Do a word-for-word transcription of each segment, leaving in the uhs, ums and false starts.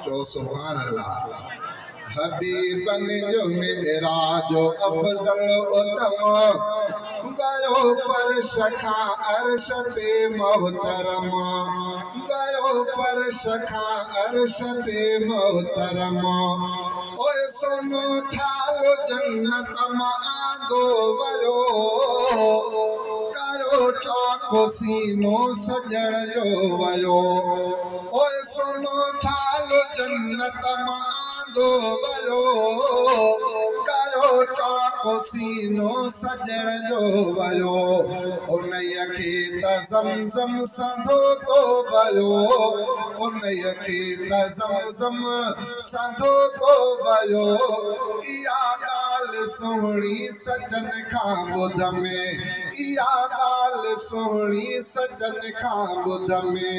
चओ सुभान अल्लाह। हबीबन जो मेराज अफ़ज़ल उतम, गयो फर्श खां अर्श ते मोहतरम, गयो फर्श खां अर्श ते मोहतरम। ओए सोनो थालो जन्नत मां आंदो वयो, कयो चाको सीनो सजण जो वयो। ओए सोनो थालो जन्नत मां आंदो वयो, कयो चाको सीनो सजण जो वयो। उन खे त ज़मज़म सां धोतो वयो, उन खे त ज़मज़म सां धोतो वयो। इहा ॻाल्हि सुहिणी सजन खां ॿुध में, इहा ॻाल्हि सुहिणी सजन खां ॿुध में।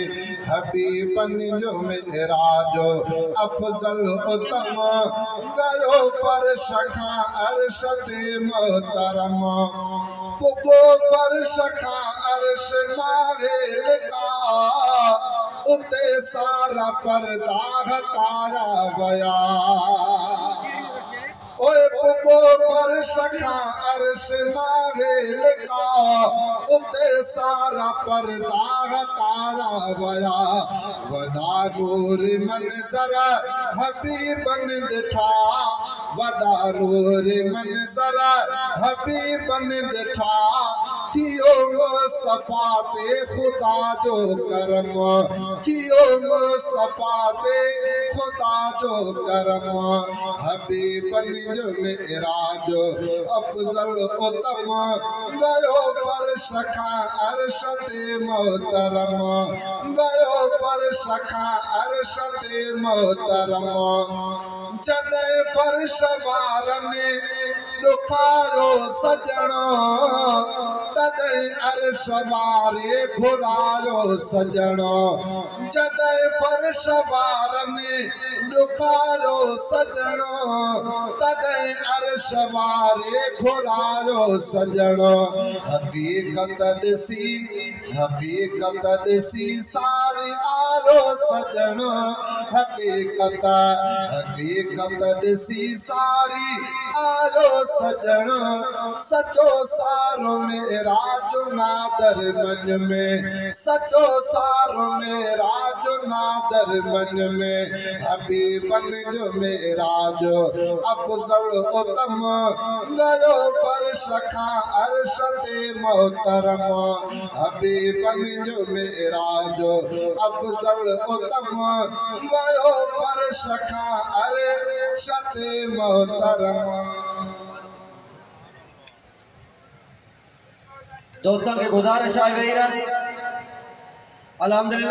हबीबन जो मेराज अफ़ज़ल उतम, गयो फर्श खां अर्श ते मोहतरम। पुॻो फर्श खां अर्श नाहे लिका, उते सारा पर्दा हटाया वया। ओए पुॻो फर्श खां अर्श नाहे लिका, उते सारा पर्दा हटाया वया। वॾा नूर मंज़र हबीबन ॾिठा, वॾा नूर मंज़र हबीबन ॾिठा। थियो मुस्तफ़ा ते ख़ुदा जो करम, थियो मुस्तफ़ा ते ख़ुदा जो करम। हबीबन जो मेराज अफ़ज़ल उतम, गयो फर्श खां अर्श ते मोहतरम, गयो फर्श खां अर्श ते मोहतरम। जॾहिं फर्श वारनि ॾुखारो सजण, तॾहिं अर्श वारे घुरायो सजण। जॾहिं फर्श वारनि ॾुखारो सजण, तॾहिं अर्श वारे घुरायो सजण। हक़ीक़त ॾिसी, हक़ीक़त ॾिसी सारी आयो सजण, हक़ीक़त हक़ीक़त ॾिसी सारी आयो सजण। सचो सारो मेराज नादर मन में, सचो सारो मेराज नादर मन में। हबीबन जो मेराज अफ़ज़ल उतम, गयो फर्श खां अर्श ते मोहतरम। हबीबन जो मेराज अफ़ज़ल उतम, गयो फर्श खां अर्श ते मोहतरम। दोस्तों के गुजारिश है, अल्हम्दुलिल्लाह।